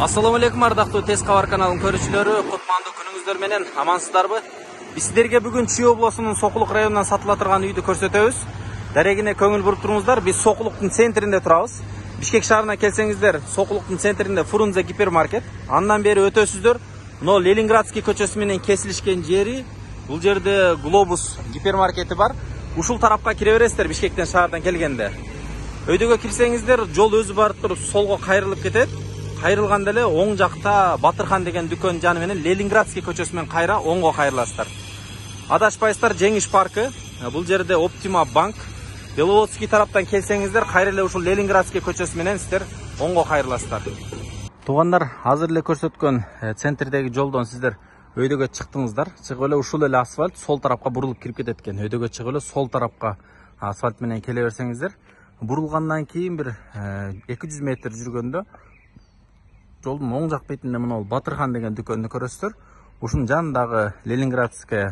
Assalamu alaikum ардактуу Тез кабар каналынын көрүүчүлөрү, кутмандуу күнүңүздөр менен амансыздарбы? Биз сиздерге бүгүн Чүй облусунун Сокулук районунан сатыла турган үйдү көрсөтөбүз. Дарегине көңүл буруп туруңуздар. Биз Сокулуктун центринде турабыз. Бишкек шаарына келсеңиздер, Сокулуктун центринде Фрунзе гипермаркет. Андан бери өтөсүздөр. Мына Ленинградский көчөсү менен кесилишкен жери. Бул жерде Глобус гипермаркети бар. Ушул тарапка кире бересиздер Бишкектен шаардан келгенде. Өйдөгө кирсеңиздер, жол өзү барып туруп солго кайрылып кетет. Кайрылганда эле оң жакта Батырхан деген дүкөн жаны менен Ленинградский көчөсү менен кайра оңго кайрыласыздар. Адашпайсыздар, Жеңиш паркы. Бул жерде Оптима банк. Беловодский тараптан келсеңиздер, кайра эле ушул Ленинградский көчөсү менен сиздер оңго кайрыласыздар. Туугандар, азыр эле көрсөткөн центрдеги жолдон сиздер өйдөгө чыктыңыздар. Чыгып эле ушул эле асфальт сол тарапка бурулуп кирип кетет экен. Өйдөгө чыгып эле сол тарапка асфальт менен келе берсеңиздер, бурулгандан кийин бир 200 метр жүргөндө жолдун оң жак бетинде мына Батырхан деген дүкөндү көрөсүздөр. Ушунун жанындагы Ленинградская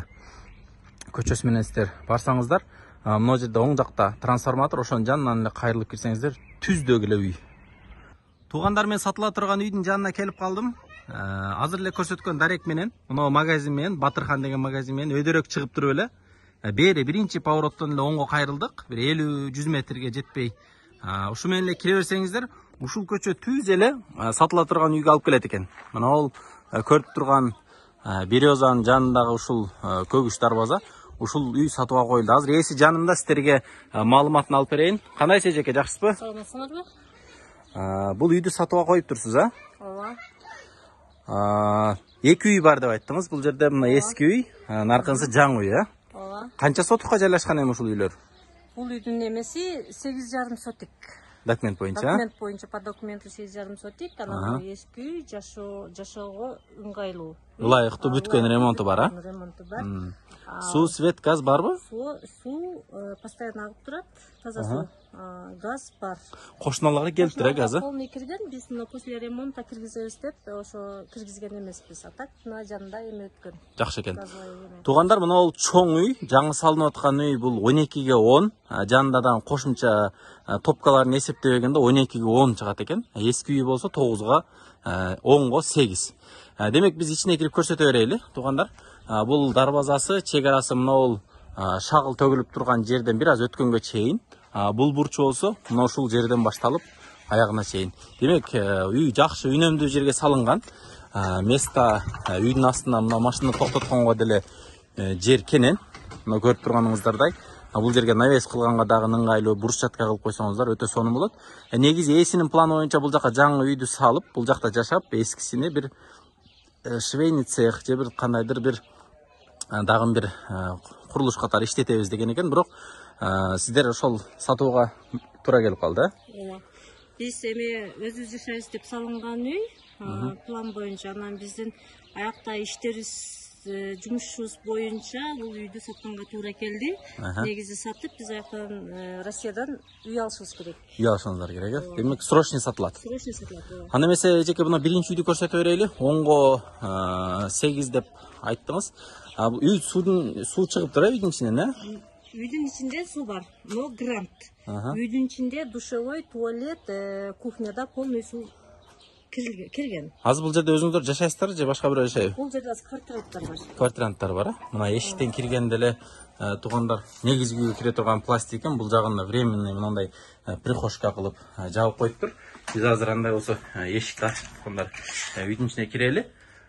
көчөсү менен сиздер барсаңыздар, мына жерде оң жакта трансформатор, ошонун жанынан эле кайрылып кирсеңиздер, түздөгү эле үй. Туугандар, мен сатыла турган үйдүн жанына келип калдым. Азыр эле көрсөткөн дарек менен, мына магазин менен, Батырхан деген магазин менен өйдөрөөк чыгып туруп эле бери биринчи повороттон эле оңго кайрылдык. Бир 50-100 метрге жетпей. Ушу менен эле кире берсеңиздер, ушул көчө түз эле сатыла турган үйгө алып келет экен. Мына ол көрүп турган Березанын жанындагы ушул көгүч дарбаза, ушул үй сатууга коюлду. Азыр ээси жанымда, сиздерге маалыматын алып берейин. Кандайсыз эжеке, жакшысызбы? Саламатсыңарбы? Бул үйдү сатууга коюп турсуз, а? Ооба. Эки үй бар деп айттыңыз. Бул жерде мына эски үй, наркынысы жаңы үй, а? Ооба. Канча сотукка жайлашкан эми ушул үйлөр? Бул үйдүн эмеси 8,5 сотик. Документ боюнча? Документ боюнча, по документу 8,5 сотик. Анан эски үй жашоого ыңгайлуу. Ылайыктуу бүткөн ремонту бар, а? Ремонту бар. Суу, свет, газ барбы? Суу постоянно агып турат, таза суу. Газ бар. Кошуналарга келип тур, газы? Полный кирген, биз после ремонта киргизебиз деп, ошо киргизген эмеспиз. А так мына жанында эме өткөн. Жакшы экен. Туугандар, мына бул чоң үй, жаңы салынып аткан үй, бул 12ге 10. Жанында да кошумча топкаларын эсептебегенде 12ге 10 чыгат экен. Эски үй болсо 9га 10го 8. Демек биз ичине кирип көрсөтө берели, туугандар. Бул дарбазасы, чек арасы мына бул шагыл төгүлүп турган жерден бир аз өткөнгө чейин. Бул бурчу болсо мына ушул жерден башталып аягына чейин. Демек, үй жакшы үнөмдүү жерге салынган. Места үйдүн астына мына машина токтотконго деле жер кенен. Мына көрүп турганыңыздардай, бул жерге навес кылганга дагы ыңгайлуу, брусчатка кылып койсоңуздар өтө сонун болот. Негизи ээсинин планы боюнча бул жака жаңы үйдү салып, бул жакта жашап, эскисине бир швейный цех же бир кандайдыр бир дагы бир курулуш катары иштетебиз деген экен. Бирок сиздер ошол сатууга туура келип калды, Ооба. Биз эми өзүбүз жашайбыз деп салынган үй, план боюнча. Анан биздин аякта иштерибиз, жумушубуз боюнча бул үйдү сатканга туура келди. Негизи сатып, биз аяктан Россиядан үй алышыбыз керек. Үй алышыңыздар керек, э? Демек, срочный сатылат. Срочный сатылат. Анда эмесе, эжеке, мына биринчи үйдү көрсөтө берели. Оңго 8 деп айттыңыз. Үй суу чыгып тур, үйдүн ичинен, э? Үйдүн ичинде суу бар, но грант. Үйдүн ичинде душевой, туалет, кухняда полный суу кирген. Азыр бул жерде өзүңүздөр жашайсыздар же башка бирөө жашайбы? Бул жерде квартиранттар бар. Квартиранттар бар, а? Мына эшиктен киргенде эле туугандар, негизги үйгө кире турган пластик экен. Бул жагында временный мындай прихожка кылып жабып коюптур. Биз азыр андай болсо эшикти ачып туугандар үйдүн ичине кирели.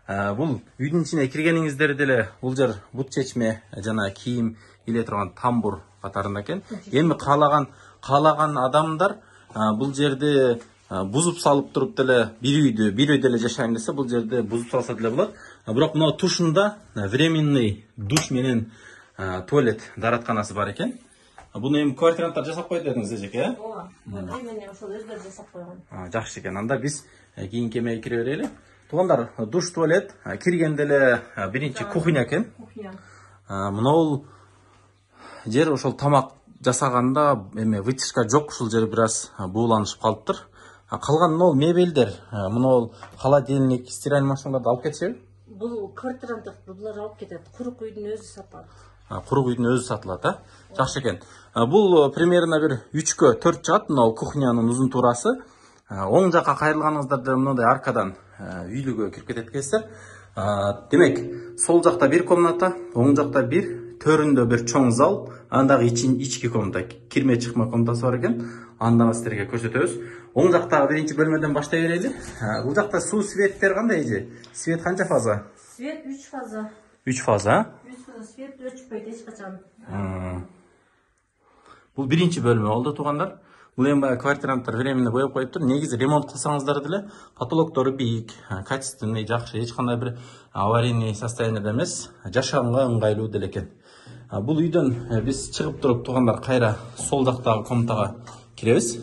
Бул үйдүн ичине киргениңиздерде эле бул жер бут чечме жана кийим иле турган тамбур катарында экен. Эми каалаган адамдар бул жерде бузуп салып туруп деле бир үйдө эле жашайм десе, бул жерде бузуп салса деле болот. Бирок мына тушунда временный душ менен туалет даратканасы бар экен. Буну эми квартиранттар жасап койду дедиңиз, эжеке, э? Ооба. Временный ошол өздөрү жасап койгон. Жакшы экен. Анда биз кийинки эмеге кире берели. Туугандар, душ, туалет киргенде эле биринчи кухня экен. Мына бул жер ошол тамак жасаганда эме вытяжка жок, ушул жер бир аз бууланышып калыптыр. Калган мына мебелдер, мына бул холодильник, стиральный машиналарды алып кетишеби? Бул квартиранттар булар алып кетет. Курук үйдүн өзү сатылат. Курук үйдүн өзү сатылат, а? Жакшы экен. Бул примерно бир 3кө 4 чыгат, мына кухнянын узун туурасы. Оң жакка кайрылганыңыздарда мындай аркадан үйлүгө кирип кетет экенсиздер. Демек, сол жакта бир комната, оң жакта бир, төрүндө бир чоң зал, андагы ички комната, кирме чыкма комнатасы бар экен. Анда сиздерге көрсөтөбүз. Оң жактагы биринчи бөлмөдөн баштай берели. Бул жакта суу светтер кандай эже? Свет канча фаза? Свет 3 фаза. 3 фаза? 3 фаза свет өчпөйт эч качан. Бул биринчи бөлмө болду туугандар. Бул эми баягы квартиранттар временно боеп коюптур. Негизи ремонт кылсаңыздар деле потолоктору бийик, качественный, жакшы, эч кандай бир аварийный состояниеде эмес, жашаганга ыңгайлуу деле экен. Бул үйдөн биз чыгып туруп туугандар кайра сол жактагы комнатага киребиз.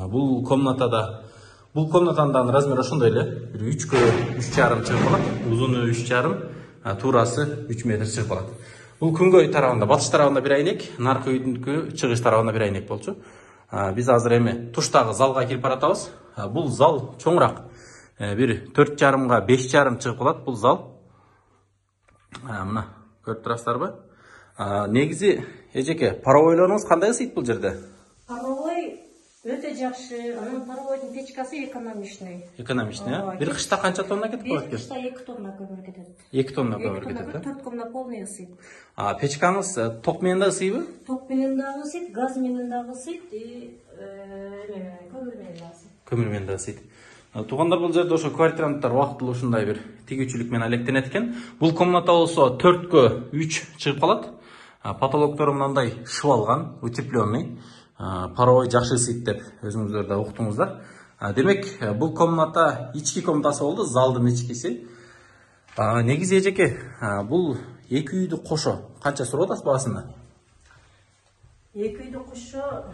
Бул комнатанын да размери ошондой эле. 3кө 3,5 чыгып калат. Узуну 3,5, туурасы 3 метр чыгып калат. Бул күнгөй тарабында, батыш тарабында бир айнек, наркы үйдүнкү чыгыш тарабында бир айнек болчу. Биз азыр эми туштагы залга кирип баратабыз. Бул зал чоңураак. Бир 4,5га 5,5 чыгып калат бул зал. Мына көрүп турасыздарбы? Негизи эжеке, паровойлоруңуз кандай ысыйт бул жерде? Паровой өтө жакшы. Анын паровойдун печкасы экономичный. Экономичный, бир кышта канча тонна кетип калат экен? Бир кышта 2 тонна көмүр кетет. 2 тонна көмүр кетет, 4 тонна полный ысыйт. Печкаңыз ток менен да ысыйбы? Ток менен дагы ысыйт, газ менен дагы ысыйт, көмүр менен дагы ысыйт. Көмүр менен да ысыйт. Туугандар, бул жерде ошо квартиранттар убактылуу ушундай бир тигүүчүлүк менен алектенет экен. Бул комната болсо 4кө 3 чыгып калат. Потолоктору мындай шыбалган, утепленный. Паровой жакшы ысыйт деп өзүңүздөр да уктуңуздар. Демек, бул комната ички комнатасы болду, залдын ичкиси. Негизи эжеке, бул эки үйдү кошо канча сурап атасыз баасына? Эки үйдү кошо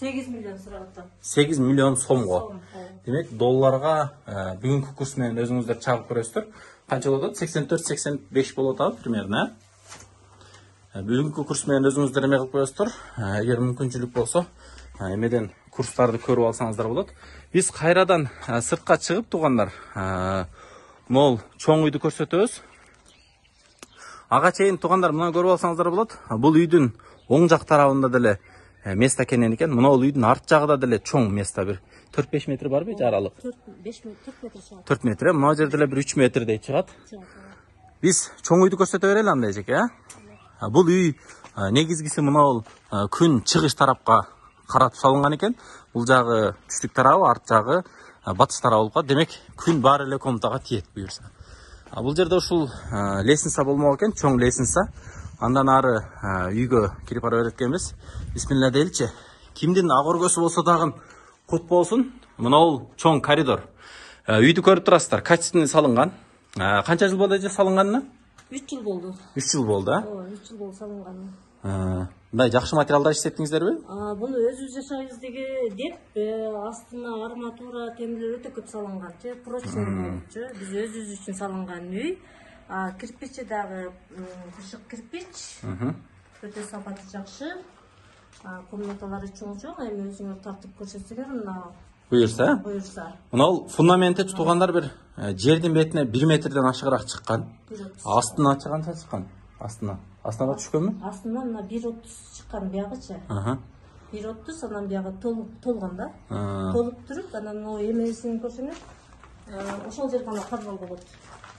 8 миллион сурап атат. 8 миллион сомго. Демек, долларга бүгүнкү курс менен өзүңүздөр чагып көрөсүздөр. Канча болот? 84-85 болот атат примерно. Бүгүнкү курс менен өзүңүздөр эме кылып коесуздар. Эгер мүмкүнчүлүк болсо, эмеден курстарды көрүп алсаңыздар болот. Биз кайрадан сыртка чыгып туугандар, могул чоң үйдү көрсөтөбүз. Ага чейин туугандар, мына көрүп алсаңыздар болот. Бул үйдүн оң жак тарабында деле место кенен экен. Мына бул үйдүн арт жагында деле чоң место, бир 4-5 метр барбы жаралык? 4 метр чыгат. 4 метр, мына жерде деле бир 3 метрдей чыгат. Биз чоң үйдү көрсөтө берели анда эжеке, Бул үй негизгиси мына бул күн чыгыш тарапка каратып салынган экен. Бул жагы түштүк тарабы, арт жагы батыш тарабы болуп калат. Демек, күн баары эле комнатага тиет буюрса. Бул жерде ушул лестница болмок экен, чоң лестница. Андан ары үйгө кирип бара берет экенбиз. Бисмилла дейилчи. Кимдин ак өргөсү болсо дагы кут болсун. Мына бул чоң коридор. Үйдү көрүп турасыздар, качественный салынган. Канча жыл болду эже салынганына? 3 жыл болду. 3 жыл болду, 3 жыл болду салынганы. Мындай жакшы материалдар иштеттиңиздерби? Буну өзүбүз жашайбыз деп астына арматура, темирлер өтө көп салынган. Прочный, биз өзүбүз үчүн салынган үй. Кирпичи дагы тышык кирпич. Өтө сапаты жакшы. Комнаталары чоң-чоң, эми өзүңөр тартып көрсөтсөңөр, мына буюрса. Мына бул фундаменти туугандар бир жердин бетине 1 метрден ашыгыраак чыккан. Астына канча чыккан? Астына да түшкөнбү? Астына мына 1,30 чыккан биягычы. 1,30, анан биягы толгон да. Толуп туруп, анан эмесин көрсөңөр, ошол жерде гана подвал болот.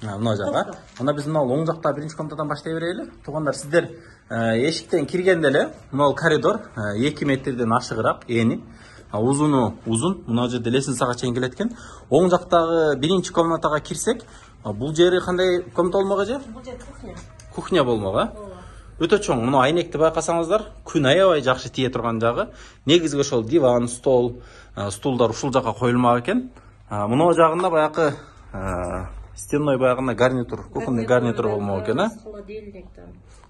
Мына жага. Анда биз мына оң жакта биринчи комнатадан баштай берели. Туугандар, сиздер эшиктен киргенде эле мына коридор 2 метрден ашыгыраак, эни. Узуну узун, мына жерде лестницага чейин келет экен. Оң жактагы биринчи комнатага кирсек, бул жери кандай комната болмок эже? Бул жер кухня. Кухня болмок, Өтө чоң. Мына айнекти байкасаңыздар, күн аябай жакшы тие турган жагы. Негизги ошол диван, стулдар ушул жака коюлмак экен. Мына жагында баягы стенной баягында гарнитур, кухонный гарнитур болмок экен,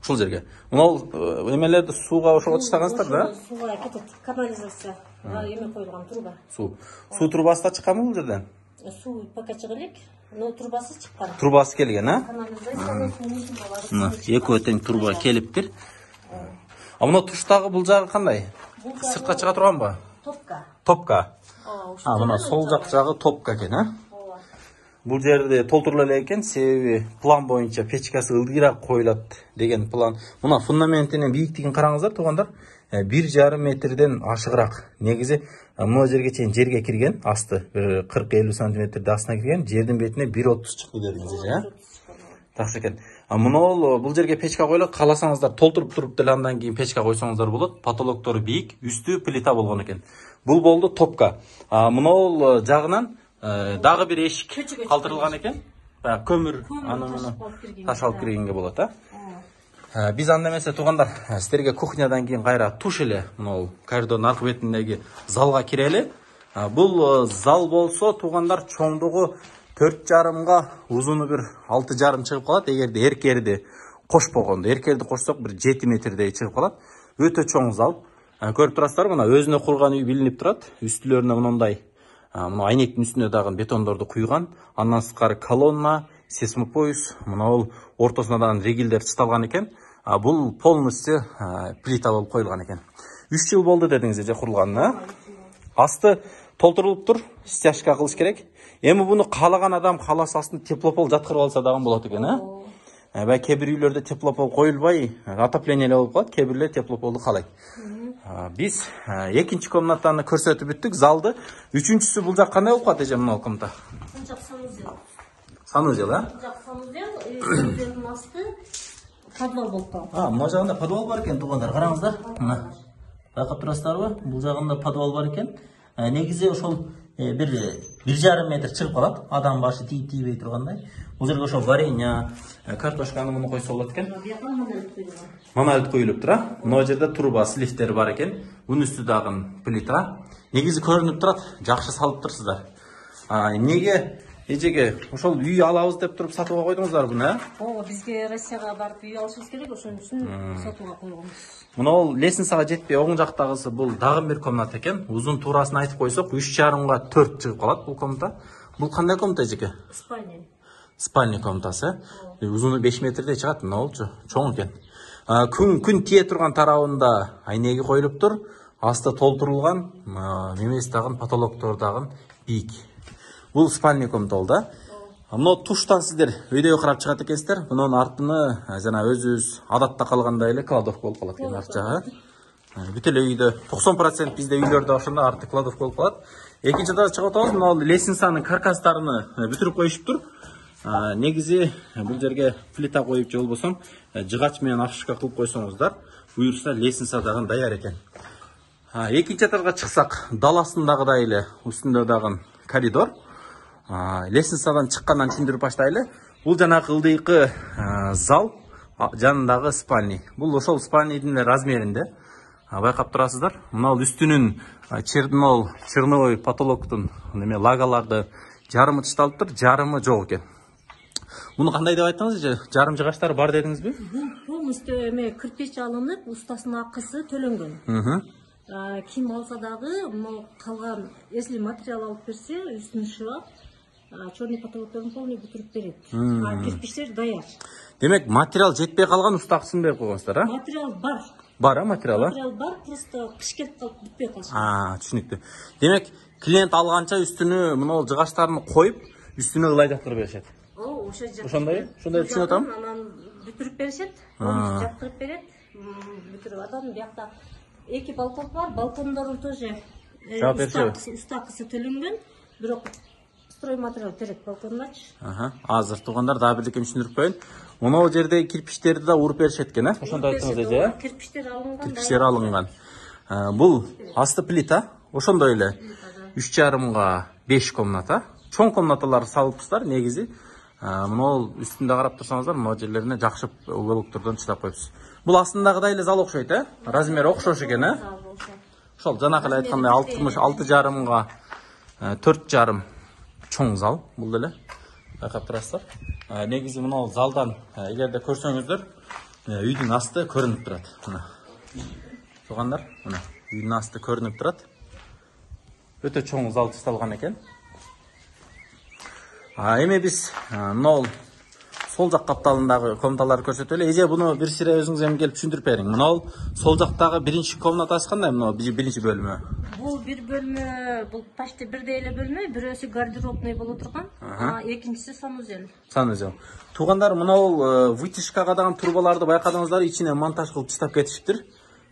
Ушул жерге. Мына эмелерди сууга ошого таштагансыздар да? Сууга кетет, канализация. Эме коюлган труба. Суу трубасы да чыкканбы бул жерден? Суу пока чыга элек, но трубасы чыккан. Трубасы келген, Канализациянын суунун трубалары. Мына экөө тең труба келиптир. Мына туштагы бул жагы кандай? Сыртка чыга турганбы? Топка. Топка. Мына сол жак жагы топка экен, бул жерде толтурула элек экен, себеби план боюнча печкасы ылдыйраак коюлат деген план. Мына фундаментинин бийиктигин караңыздар туугандар. 1,5 метрден ашыгыраак. Негизи мына жерге чейин жерге кирген, асты 40-50 сантиметрде астына кирген, жердин бетине 1,30 чыкты дедиңиз, Такшы экен. Мына бул жерге печка коюлат, кааласаңыздар толтуруп туруп деле андан кийин печка койсоңуздар болот. Потолоктору бийик, үстү плита болгон экен. Бул болду топка. Мына жагынан дагы бир эшик калтырылган экен. Көмүр аны таш алып киргенге болот, Биз анда эмесе туугандар, сиздерге кухнядан кийин кайра туш эле мына коридордун аркы бетиндеги залга кирели. Бул зал болсо туугандар чоңдугу 4,5га, узуну бир 6,5 чыгып калат. Эгерде эркерди кошпогондо, эркерди кошсок бир 7 метрдей чыгып калат. Өтө чоң зал. Көрүп турасыздар, мына өзүнө курган үй билинип турат. Үстүлөрүнө мындай мына айнектин үстүнө дагы бетондорду куйган. Андан сырткары колонна, сейсмопояс, мына бул ортосуна дагы ригелдер чыталган экен. Бул полностью плита болуп коюлган экен. 3 жыл болду дедиңиз же курулганына. Асты толтурулуп тур, стяжка кылыш керек. Эми буну каалаган адам кааласа астын теплопол жаткырып алса дагы болот экен, Кээ бир үйлөрдө теплопол коюлбай, отопление эле болуп калат, кээ бирлер теплополду каалайт. Биз экинчи комнатаны көрсөтүп бүттүк, залды. Үчүнчүсү бул жак кандай болуп калат эже мына комната? Бул жак санузел. Санузел, Бул жак санузел, санузелдин асты подвал болуп калат. Мына жагында подвал бар экен туугандар, караңыздар. Мына. Байкап турасыздарбы? Бул жагында подвал бар экен. Негизи ошол бир 1,5 метр чыгып калат. Адам башы тийбей тургандай. Бул жерге ошо варенье, картошканы муну койсо болот экен. Монолит коюлуп тур, Мына жерде труба, сливтер бар экен. Бунун үстү дагы плита. Негизи көрүнүп турат, жакшы салып турсуздар. Неге эжеге ошол үй алабыз деп туруп сатууга койдуңуздар буну, Бизге Россияга барып үй алышыбыз керек, ошон үчүн сатууга койгонбуз. Мына бул лестницага жетпей оң жактагысы бул дагы бир комната экен. Узун туурасын айтып койсок 3,5га 4 чыгып калат бул комната. Бул кандай комната эжеке? Спальня. Спальня комнатасы. Узуну 5 метрдей чыгат, мына болчу. Чоң экен. Күн тие турган тарабында айнеги коюлуп тур. Асты толтурулган, немеси дагы потолоктор дагы бийик. Бул спальня комната болду, Мына туштан сиздер өйдөгө карап чыгат экенсиздер. Мунун артыны жана өзүбүз адатта калгандай эле кладовка болуп калат экен арт жагы. Бүт эле үйдө 90% бизде үйлөрдө ошондо арты кладовка болуп калат. Экинчи этажга чыгып атабыз. Мына лестницанын каркастарын бүтүрүп коюшуп тур. Негизи бул жерге плита коюп же болбосо жыгач менен акшка кылып койсоңуздар, буюрса лестница дагы даяр экен. Экинчи этажга чыксак, даласындагыдай эле үстүндө дагы коридор. Лестницадан чыккандан түшүндүрүп баштайлы. Бул жанагы ылдыйкы зал, жанындагы спальня. Бул ошол спальнянын размеринде. Байкап турасыздар. Мына үстүнүн черновой потолоктун лагаларды жарымы чышталыптыр, жарымы жок экен. Муну кандай деп айттыңыз же? Жарым жыгачтар бар дедиңизби? Полностью кирпич алынып, устасынын акысы төлөнгөн. Ким алса дагы, калган, если материал алып берсе, үстүн шылап, черный потолокторун полный бүтүрүп берет. Кирпичтер даяр. Демек, материал жетпей калган уста акысын берип койгонсуздар, Материал бар. Бар, материал? Материал бар, просто кыш келип калып бүтпөй калышы. Түшүнүктүү. Демек, клиент алганча үстүнө мына жыгачтарын коюп, үстүнө ылай жактырып беришет. Ошондой түшүнүп атам. Анан бүтүрүп беришет, жактырып берет. Бүтүрүп атам. Биякта 2 балкон бар, балкондордун тоже уста акысы төлөнгөн, бирок стройматериал керек балкондочу. Азыр туугандар дагы бирдеке түшүндүрүп коеюн. Мына жерде кирпичтерди да уруп беришет экен, Ошондой айттыңыз эже, Кирпичтер алынган. Бул асты плита, ошондой эле 3,5га 5 комната. Чоң комнаталар салыпсыздар, негизи. Мына үстүндө карап турсаңыздар, мына жерлерине жакшы уголоктордон чыдап коюпсуз. Бул астындагыдай эле зал окшойт, Размери окшош экен, Ошол жанакы эле айткандай 6,5га 4,5 чоң зал бул деле. Байкап турасыздар. Негизи мына залдан эгерде көрсөңүздөр, үйдүн асты көрүнүп турат. Мына. Туугандар, мына үйдүн асты көрүнүп турат. Өтө чоң зал чышталган экен. Эми биз мына сол жак капталындагы комнаталарды көрсөтөлү. Эже буну бир сире өзүңүз эми келип түшүндүрүп бериң. Мына сол жактагы биринчи комнатасы кандай? Мына биринчи бөлүмү. Бул бир бөлмө, бул почти бирдей эле бөлмө, бирөөсү гардеробный боло турган, экинчиси санузел. Санузел. Туугандар, мына вытяжкага дагы турбаларды байкадыңыздар, ичине монтаж кылып таштап кетишиптир.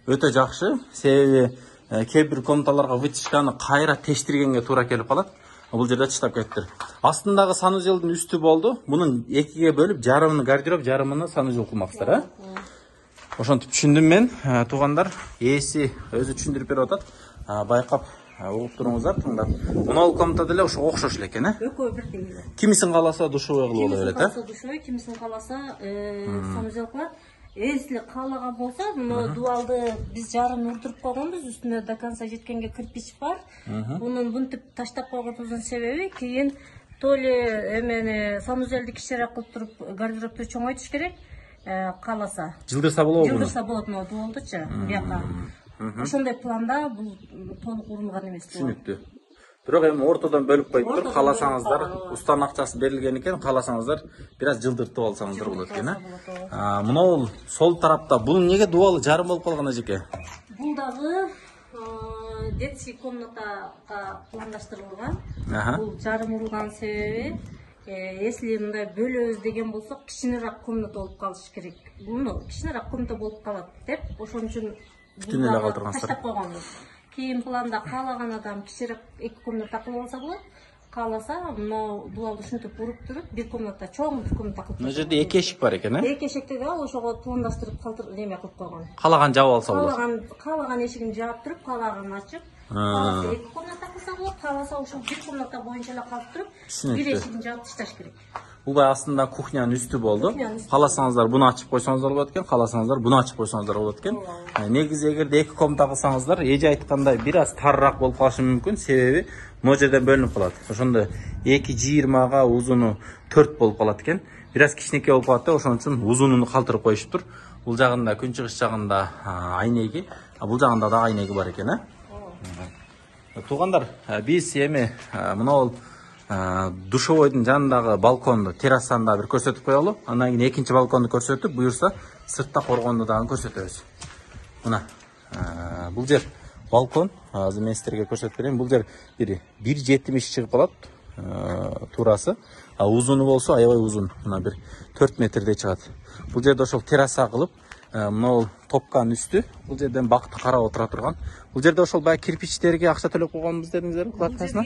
Өтө жакшы. Себеби кээ бир комнаталарга вытяжканы кайра тештиргенге туура келип калат. Бул жерде таштап кеттир. Астындагы санузелдин үстү болду. Мунун экиге бөлүп, жарымын гардероб, жарымын санузел кылмаксыздар, Ошентип түшүндүм мен. Туугандар, ээси өзү түшүндүрүп берип атат. Байкап угуп туруңуздар, тыңдап. Мына комната деле ошо окшош эле экен, Экөө бирдей эле. Кимисин кааласа душевой кылып боло берет, Кимисин кааласа душевой, кимисин кааласа санузел кылат. Эсли каалаган болсо, мына дубалды биз жарым урдуруп койгонбуз, үстүнө до конца жеткенге кирпич бар. Мунун мынтип таштап койгонубуздун себеби кийин то эле эмени санузелди кичиирээк кылып туруп гардеробду чоңойтуш керек. Кааласа. Жылдырса болобу? Жылдырса болот мына дубалдычы бияка. Ошондой планда бул толук урулган эмес. Түшүнүктүү. Бирок эми ортодон бөлүп коюп туруп, кааласаңыздар, устанын акчасы берилген экен, кааласаңыздар бир аз жылдыртып алсаңыздар болот экен, Мына сол тарапта бунун неге дубалы жарым болуп калган эжеке? Бул дагы детский комнатага пландаштырылган. Бул жарым урулган себеби, если мындай бөлөбүз деген болсок, кичинерээк комната болуп калыш керек. Муну кичинерээк комната болуп калат деп, ошон үчүн бүтүн эле калтыргансыздар. Таштап койгонбуз. Кийин планда каалаган адам кичиирээк 2 комната кылып алса болот. Кааласа, мына дубалды ушинтип уруп туруп, бир комната чоң бир комната кылып. Мына жерде 2 эшик бар экен, Эки эшикти да ошого пландаштырып неме кылып койгон. Каалаган жаап алса болот. Каалаган эшигин жаап туруп, каалаган ачып, кааласа 2 комната кылса болот, кааласа ошол бир комната боюнча эле калып туруп, бир эшигин жаап ташташ керек. Бул астында кухнянын үстү болду. Кааласаңыздар буну ачып койсоңуздар болот экен, кааласаңыздар буну ачып койсоңуздар болот экен. Негизи эгерде 2 комната кылсаңыздар, эже айткандай бир аз тарыраак болуп калышы мүмкүн, себеби могу жерден бөлүнүп калат. Ошондо 2,20га узуну 4 болуп калат экен. Бир аз кичинекей болуп калат да, ошон үчүн узунун калтырып коюшуптур. Бул жагында күнчыгыш жагында айнеги, бул жагында да айнеги бар экен, Туугандар, биз эми мына душевойдун жанындагы балконду, террасаны да бир көрсөтүп коелу. Андан кийин экинчи балконду көрсөтүп, буюрса сыртта коргонду дагы көрсөтөбүз. Мына бул жер балкон. Азыр мен сиздерге көрсөтүп берейин. Бул жер 1,70 чыгып калат туурасы. Узуну болсо аябай узун. Мына бир 4 метрдей чыгат. Бул жерде ошол терраса кылып, мына топканын үстү. Бул жерден бакты карап отура турган. Бул жерде ошол баягы кирпичтерге акча төлөп койгонбуз дедиңиздер, кладкасына.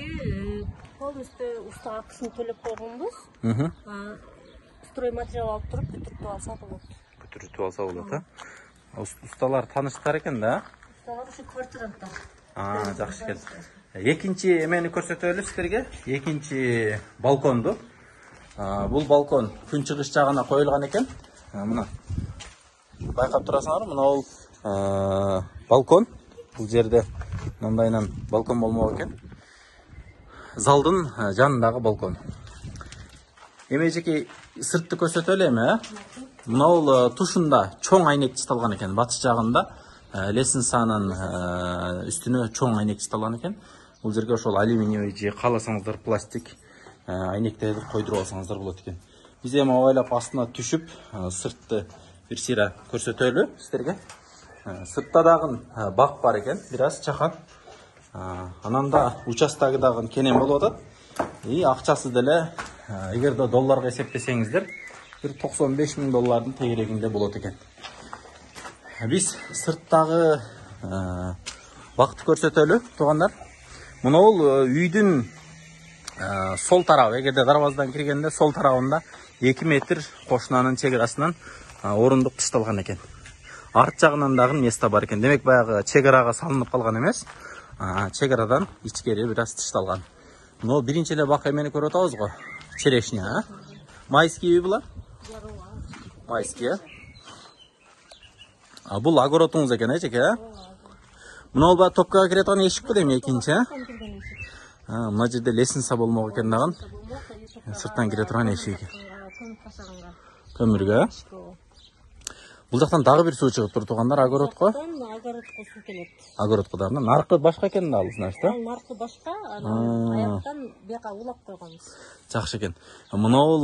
Полностью уста акысын төлөп койгонбуз. Стройматериал алып туруп бүтүрүп алса болот. Бүтүрүп алса болот, Усталар тааныштар экен да. Усталар ушу квартиранттар. Жакшы экен. Экинчи эмени көрсөтөлү сиздерге. Экинчи балконду. Бул балкон күнчыгыш жагына коюлган экен. Мына байкап турасыңарбы? Мына бул балкон. Бул жерде мындайынан балкон болмок экен. Залдын жанындагы балкон. Эми эжеке сыртты көрсөтөлү эми, Мына бул тушунда чоң айнек чыталган экен. Батыш жагында лестницанын үстүнө чоң айнек чыталган экен. Бул жерге ошол алюминиевый же кааласаңыздар пластик айнектерди койдуруп алсаңыздар болот экен. Биз эми абайлап астына түшүп, сыртты бир сыйра көрсөтөлү сиздерге. Сыртта дагы бак бар экен, бир аз чакан. Анан да участогу дагы кенен болуп атат. Акчасы деле эгерде долларга эсептесеңиздер, бир 95 000 доллардын тегерегинде болот экен. Биз сырттагы бакты көрсөтөлү, туугандар. Мына бул үйдүн сол тарабы, эгерде дарбазадан киргенде сол тарабында 2 метр кошунанын чек арасынан орундук ташталган экен. Арт жагынан дагы место бар экен. Демек баягы чек арага салынып калган эмес. Чек арадан ичкери бир аз ташталган. Но биринчи эле бак эмени көрүп атабыз го. Черешня, майский үй булар? Майский, бул огородуңуз экен, эжеке, Мына бул топкага кире турган эшик бул эми экинчи, Мына жерде лестница болмок экен дагы. Сырттан кире турган эшик. Көмүргө. Бул жактан дагы бир суу чыгып тур туугандар, огородко. Огородко суу келет. Огородко дагы. Наркы башка экен да алып, значит, Ал наркы башка, анан аяктан бияка улап койгонбуз. Жакшы экен. Мынау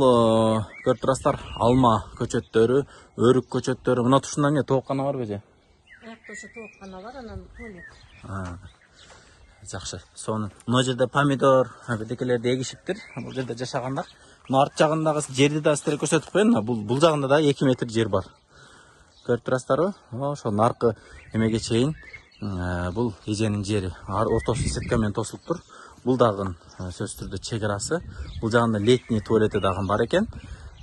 көрүп турасыздар, алма көчөттөрү, өрүк көчөттөрү. Мына тушунда эмне тооккана барбы же? Аякта ошо тооккана бар, анан туалет. Жакшы. Сону мына жерде помидор, бирдекелерди эгишиптир. Бул жерде жашагандар. Мына арт жагындагы жерди да сиздерге көрсөтүп коеюн. Бул жагында да 2 метр жер бар. Көрүп турасыздарбы? Ошо наркы эмеге чейин бул эженин жери. Ортосу сетка менен тосулуп тур. Бул дагы сөзсүз түрдө чек арасы. Бул жагында летний туалети дагы бар экен.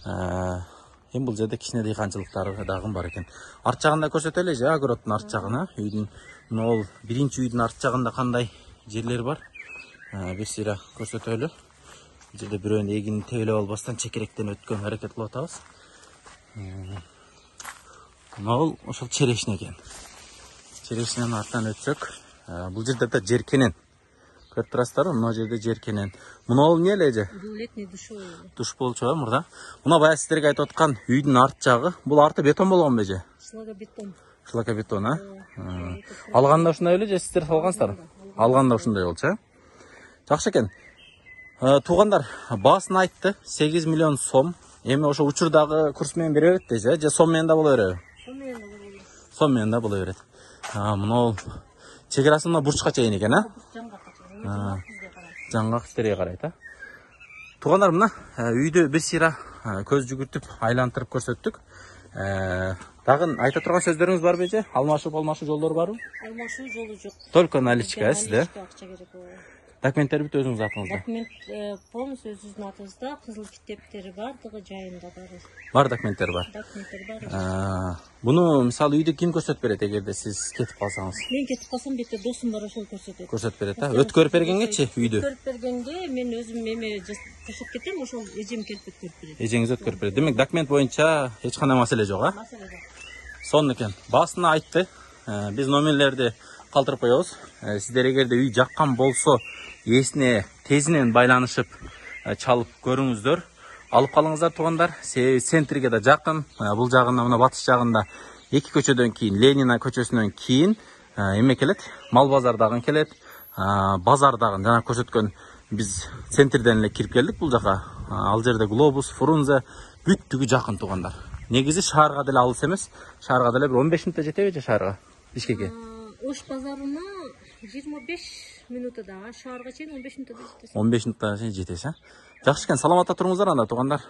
Эми бул жерде кичине дыйканчылыктары дагы бар экен. Арт жагында көрсөтөлү же, огороддун арт жагына. Үйдүн мына биринчи үйдүн арт жагында кандай жерлер бар? Бир сыйра көрсөтөлү. Бул жерде бирөөнүн эгинин тебелеп албастан чекеректен өткөн аракет кылып атабыз. Мына ошол черешня экен. Черешнянын артынан өтсөк, бул жерде да жеркенен. Көрүп турасыздарбы? Мына жерде жеркенен. Мына эмне эле же? Бул летний душевой. Душ болчу мурда. Мына баягы сиздерге айтып аткан үйдүн арт жагы. Бул арты бетон болгонбу же? Шлакобетон. Шлакобетон, Алганда ушундай эле же сиздер салгансыздар? Алганда ушундай болчу, Жакшы экен. Туугандар, баасын айтты, 8 миллион сом. Эми ошо учурдагы курс менен бере берет дейсиз, же сом менен да боло береби? Сом менен да боло берет. Мына чек арасы мына бурчка чейин экен, Жаңгак иштерге карайт, Туугандар, мына үйдү бир сыйра көз жүгүртүп, айлантырып көрсөттүк. Дагы айта турган сөздөрүңүз барбы же? Алмашуу жолдору барбы? Алмашуу жолу жок. Только наличка, сизде? Акча керек. Документтер бүт өзүңүз атыңызда. Документ полностью өзүбүздүн атыбызда, кызыл китептери бардыгы жайында бар. Бар документтер бар. Документтер бар. Буну мисалы үйдү ким көрсөтүп берет эгерде сиз кетип калсаңыз? Мен кетип калсам, бетте досум бар, ошол көрсөтөт. Көрсөтүп берет, Өткөрүп бергенгечи үйдү? Өткөрүп бергенге мен өзүм эме кошуп кетем, ошол эжем келип өткөрүп берет. Эжеңиз өткөрүп берет. Демек документ боюнча эч кандай маселе жок, Маселе жок. Сонун экен. Баасына айтты. Биз номерлерди калтырып коебуз. Сиздер эгерде үй жаккан болсо, эсине тезинен байланышып чалып көрүңүздөр. Алып калыңыздар туугандар. Центрге да жакын. Бул жагында мына батыш жагында 2 көчөдөн кийин, Ленина көчөсүнөн кийин эме келет, мал базар дагы келет. Базар дагы жана көрсөткөн биз центрден эле кирип келдик бул жака. Ал жерде Глобус, Фрунзе бүттүгү жакын туугандар. Негизи шаарга деле алыс эмес. Шаарга деле бир 15 мүнөттө жетеби же шаарга? Бишкекке. Ош базарына 25 мүнөттө, шаарга чейин 15 мүнөттө жетесиз. 15 мүнөттө чейин жетесиз, Жакшы экен, саламатта туруңуздар анда туугандар.